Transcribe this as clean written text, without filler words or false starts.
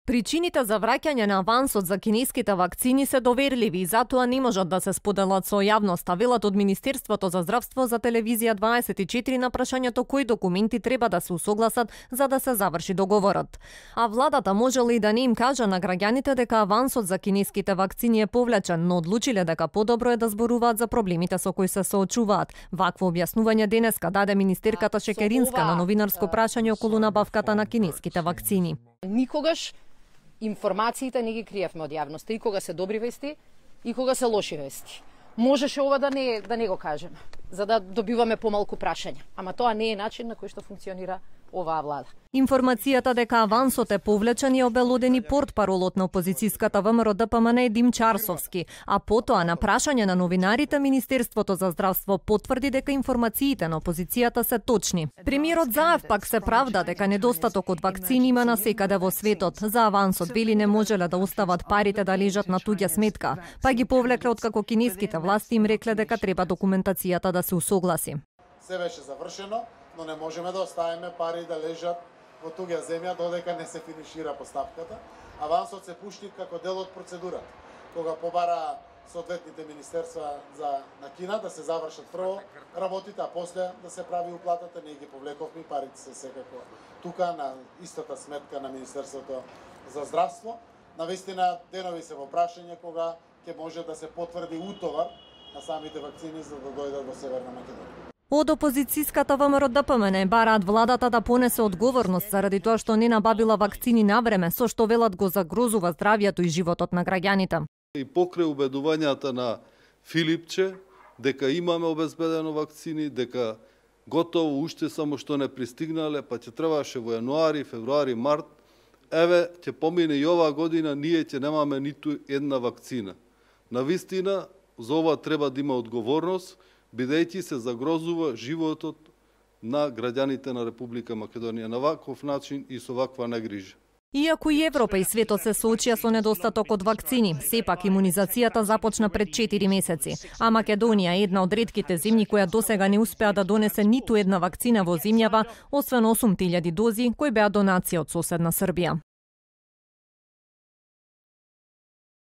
Причините за враќање на авансот за кинеските вакцини се доверливи и затоа не можат да се споделат со јавноста, велат од Министерството за здравство за телевизија 24 на прашањето кои документи треба да се усогласат за да се заврши договорот. А владата можела и да не им кажа на граѓаните дека авансот за кинеските вакцини е повлечен, но одлучиле дека подобро е да зборуваат за проблемите со кои се соочуваат. Вакво објаснување денеска даде министерката Шекеринска на новинарско прашање околу набавката на кинеските вакцини. Никогаш информациите не ги криевме од јавноста, и кога се добри вести, и кога се лоши вести. Можеше ова да не го кажеме, за да добиваме помалку прашања, ама тоа не е начин на кој што функционира оваа влада. Информацијата дека авансот е повлечен е обелодени портпаролот на опозицијската ВМРО ДПМН Дим Чарсовски, а потоа на прашање на новинарите Министерството за здравство потврди дека информациите на опозицијата се точни. Премиерот Заев пак се правда дека недостаток од вакцини има насекаде во светот. За авансот вели не можеле да остават парите да лежат на туѓа сметка, па ги повлекле откако кинеските власти им рекле дека треба документацијата да се усогласи. Се беше завршено, но не можеме да оставиме пари да лежат во туѓа земја додека не се финишира постапката. Авансот се пушти како дел од процедурата. Кога побара соодветните министерства на Кина да се завршат прво работите, а после да се прави уплатата, ние ги повлековме, парите се секако тука на истата сметка на Министерството за здравство. Навистина денови се во прашање кога ќе може да се потврди утовар на самите вакцини за да дојдат во Северна Македонија. Од опозицијската ВМРО ДПМН бараат владата да понесе одговорност заради тоа што не набавила вакцини на време, со што велат го загрозува здравјето и животот на граѓаните. И покрај убедувањата на Филипче дека имаме обезбедено вакцини, дека готово уште само што не пристигнале, па ќе требаше во јануари, февруари, март, еве ќе помине и оваа година, ние ќе немаме ниту една вакцина. Навистина, за ова треба да има одговорност, бидејќи се загрозува животот на граѓаните на Република Македонија на ваков начин и со ваква негрижа. Иако и Европа и светот се соочија со недостаток од вакцини, сепак имунизацијата започна пред 4 месеци, а Македонија е една од ретките земји која досега не успеа да донесе ниту една вакцина во земјава, освен 8.000 дози кои беа донација од соседна Србија.